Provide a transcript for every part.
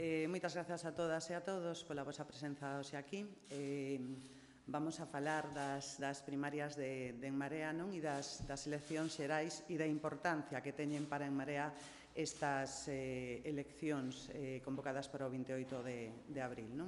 Moitas grazas a todas e a todos pola vosa presenza hoxe aquí. Vamos a falar das primarias de En Marea e das eleccións xerais e da importancia que teñen para En Marea estas eleccións convocadas para o 28 de abril.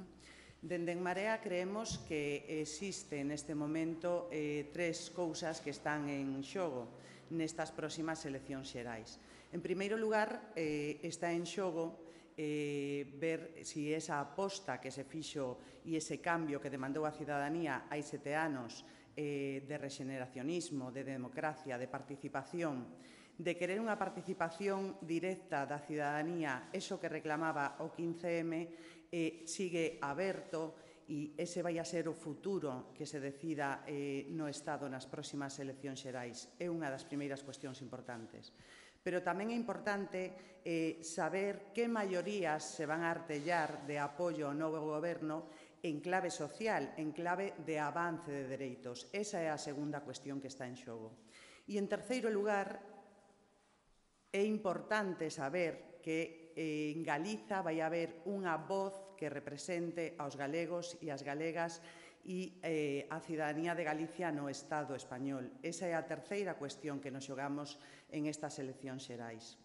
Dende En Marea creemos que existe neste momento tres cousas que están en xogo nestas próximas eleccións xerais. En primeiro lugar, está en xogo ver se esa aposta que se fixo e ese cambio que demandou a cidadanía hai 7 anos de rexeneracionismo, de democracia, de participación, de querer unha participación directa da cidadanía, eso que reclamaba o 15M, sigue aberto e ese vai a ser o futuro que se decida no Estado nas próximas eleccións xerais. É unha das primeiras cuestións importantes. Pero tamén é importante saber que maiorías se van a artellar de apoio ao novo goberno en clave social, en clave de avance de dereitos. Esa é a segunda cuestión que está en xogo. E, en terceiro lugar, é importante saber que en Galiza vai haber unha voz que represente aos galegos e as galegas e a cidadanía de Galicia no Estado español. Esa é a terceira cuestión que nos xogamos en estas eleccións xerais.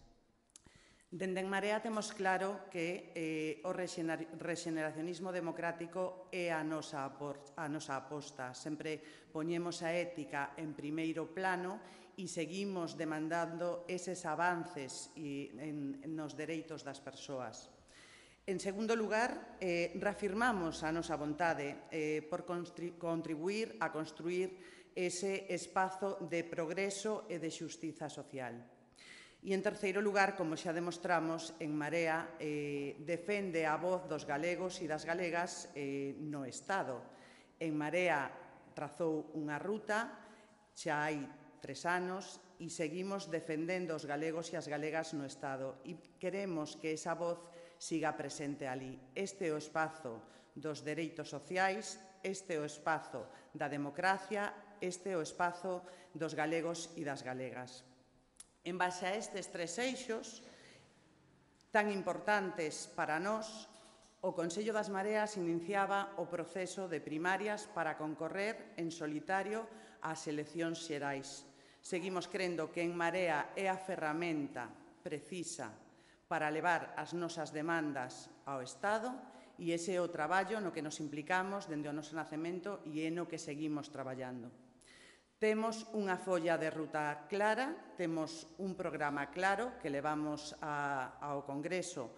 Dende En Marea temos claro que o rexeneracionismo democrático é a nosa aposta. Sempre poñemos a ética en primeiro plano e seguimos demandando eses avances nos dereitos das persoas. En segundo lugar, reafirmamos a nosa vontade por contribuir a construir ese espazo de progreso e de xustiza social. E, en terceiro lugar, como xa demostramos, En Marea defende a voz dos galegos e das galegas no Estado. En Marea trazou unha ruta, xa hai 3 anos, e seguimos defendendo os galegos e as galegas no Estado. E queremos que esa voz siga presente ali. Este é o espazo dos dereitos sociais, este é o espazo da democracia, este é o espazo dos galegos e das galegas. En base a estes tres eixos tan importantes para nós, o Consello das Mareas iniciaba o proceso de primarias para concorrer en solitario ás eleccións xerais. Seguimos crendo que En Marea é a ferramenta precisa para levar as nosas demandas ao Estado e ese é o traballo no que nos implicamos dende o noso nacemento e é no que seguimos traballando. Temos unha folla de ruta clara, temos un programa claro que levamos ao Congreso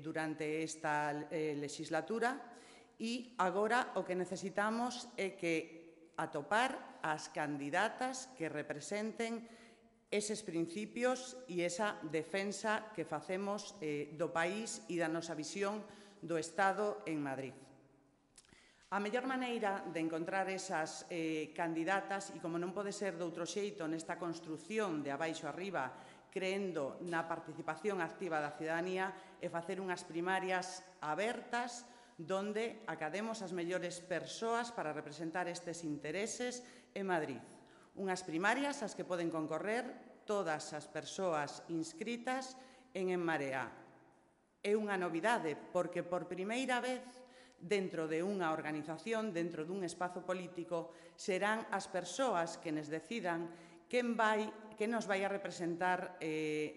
durante esta legislatura e agora o que necesitamos é que atopar as candidatas que representen eses principios e esa defensa que facemos do país e da nosa visión do Estado en Madrid. A mellor maneira de encontrar esas candidatas, e como non pode ser doutro xeito nesta construción de abaixo arriba, creendo na participación activa da cidadanía, é facer unhas primarias abertas donde academos as mellores persoas para representar estes intereses en Madrid. Unhas primarias ás que poden concorrer todas as persoas inscritas en Marea. É unha novidade porque por primeira vez dentro de unha organización, dentro dun espazo político, serán as persoas que nos decidan quen nos vai a representar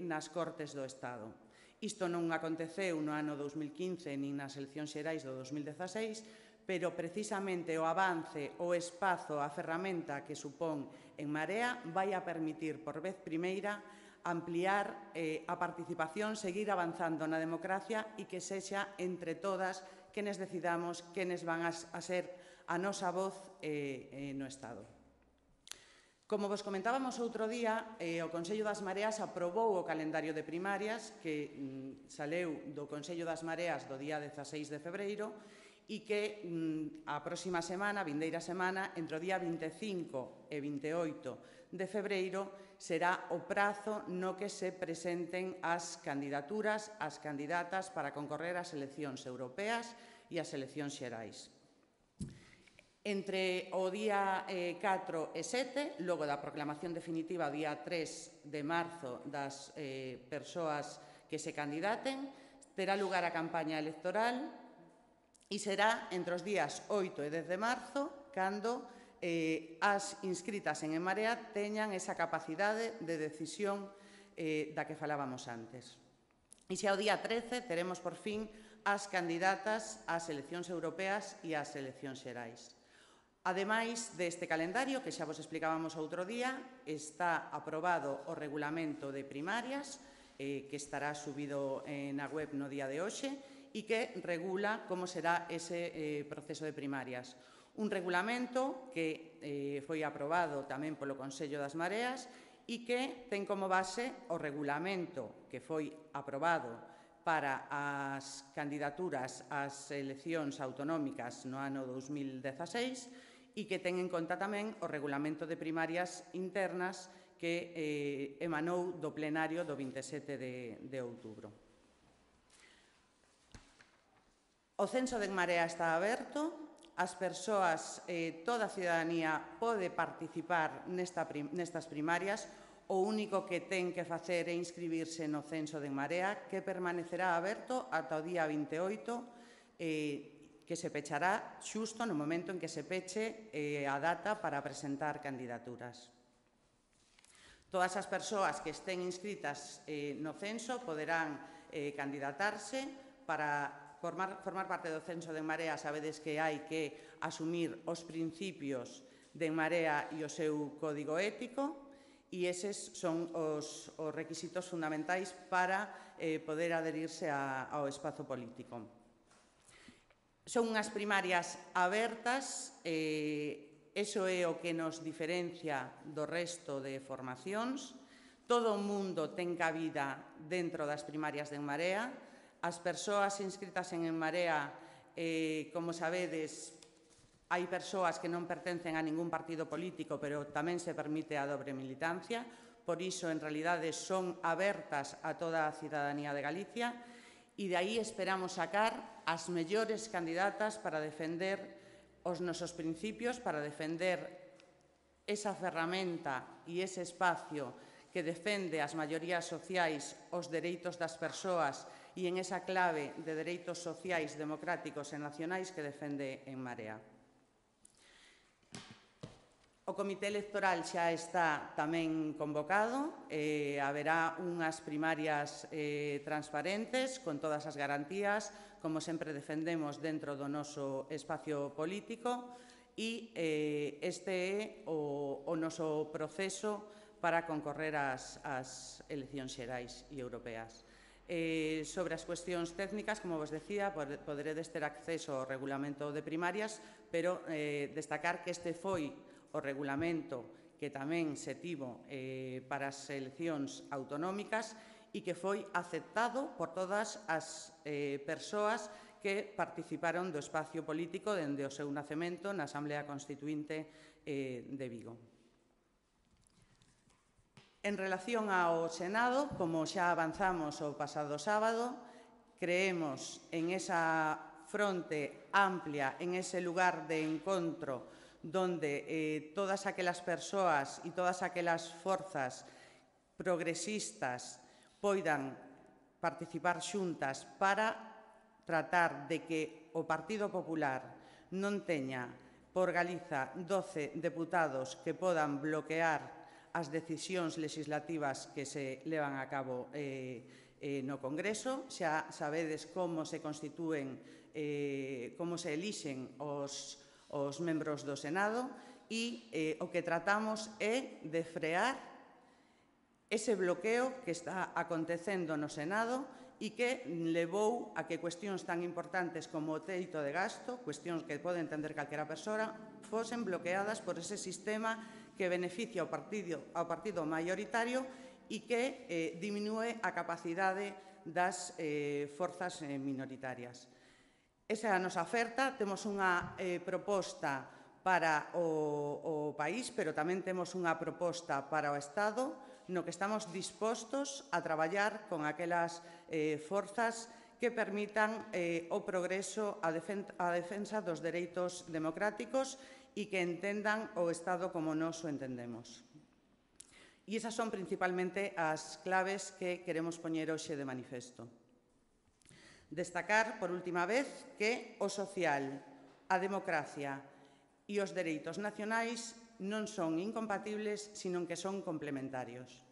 nas Cortes do Estado. Isto non aconteceu no ano 2015 nin nas eleccións xerais do 2016, pero precisamente o avance, o espazo, a ferramenta que supón En Marea vai a permitir por vez primeira ampliar a participación, seguir avanzando na democracia e que sexa entre todas quenes decidamos quenes van a ser a nosa voz no Estado. Como vos comentábamos outro día, o Consello das Mareas aprobou o calendario de primarias que saleu do Consello das Mareas do día 16 de febreiro e que a próxima semana, a vindeira semana, entre o día 25 e 28 de febreiro, será o prazo no que se presenten as candidaturas, as candidatas para concorrer ás eleccións europeas e ás eleccións xerais. Entre o día 4 e 7, logo da proclamación definitiva o día 3 de marzo das persoas que se candidaten, terá lugar a campaña electoral e será entre os días 8 e 10 de marzo cando as inscritas en Marea teñan esa capacidade de decisión da que falábamos antes. E xa o día 13 teremos por fin as candidatas ás eleccións europeas e ás eleccións xerais. Ademais deste calendario, que xa vos explicábamos outro día, está aprobado o regulamento de primarias, que estará subido na web no día de hoxe, e que regula como será ese proceso de primarias. Un regulamento que foi aprobado tamén polo Consello das Mareas e que ten como base o regulamento que foi aprobado para as candidaturas ás eleccións autonómicas no ano 2016 e que ten en conta tamén o regulamento de primarias internas que emanou do plenario do 27 de outubro. O censo de En Marea está aberto. As persoas, toda a cidadanía pode participar nestas primarias. O único que ten que facer é inscribirse no censo de En Marea, que permanecerá aberto ata o día 28, que se pechará xusto no momento en que se peche a data para presentar candidaturas. Todas as persoas que estén inscritas no censo poderán candidatarse para formar parte do censo de En Marea. Sabedes que hai que asumir os principios de En Marea e o seu código ético e eses son os requisitos fundamentais para poder adherirse ao espazo político. Son unhas primarias abertas, iso é o que nos diferencia do resto de formacións. Todo o mundo ten cabida dentro das primarias de En Marea. As persoas inscritas en En Marea, como sabedes, hai persoas que non pertencen a ningún partido político, pero tamén se permite a dobre militancia. Por iso, en realidade, son abertas a toda a cidadanía de Galicia e de aí esperamos sacar as mellores candidatas para defender os nosos principios, para defender esa ferramenta e ese espacio que defende as maiorías sociais, os dereitos das persoas e en esa clave de dereitos sociais, democráticos e nacionais que defende En Marea. O Comité Electoral xa está tamén convocado. Haberá unhas primarias transparentes, con todas as garantías, como sempre defendemos dentro do noso espacio político, e este é o noso proceso para concorrer ás eleccións xerais e europeas. Sobre as cuestións técnicas, como vos decía, poderedes ter acceso ao regulamento de primarias, pero destacar que este foi o regulamento que tamén se tivo para as eleccións autonómicas e que foi aceptado por todas as persoas que participaron do espacio político dende o seu nacemento na Asamblea Constituínte de Vigo. En relación ao Senado, como xa avanzamos o pasado sábado, creemos en esa fronte amplia, en ese lugar de encontro donde todas aquelas persoas e todas aquelas forzas progresistas poidan participar xuntas para tratar de que o Partido Popular non teña por Galiza 12 deputados que podan bloquear as decisións legislativas que se levan a cabo no Congreso. Xa sabedes como se constitúen, como se elixen os membros do Senado e o que tratamos é de frear ese bloqueo que está acontecendo no Senado e que levou a que cuestións tan importantes como o teito de gasto, cuestións que pode entender calquera persoa, fosen bloqueadas por ese sistema que beneficia ao partido maioritario e que diminúe a capacidade das forzas minoritarias. Esa é a nosa oferta. Temos unha proposta para o país, pero tamén temos unha proposta para o Estado, no que estamos dispostos a traballar con aquelas forzas que permitan o progreso, a defensa dos dereitos democráticos e que entendan o Estado como nós o entendemos. E esas son principalmente as claves que queremos poñer hoxe de manifesto. Destacar, por última vez, que o social, a democracia e os dereitos nacionais non son incompatibles, sino que son complementarios.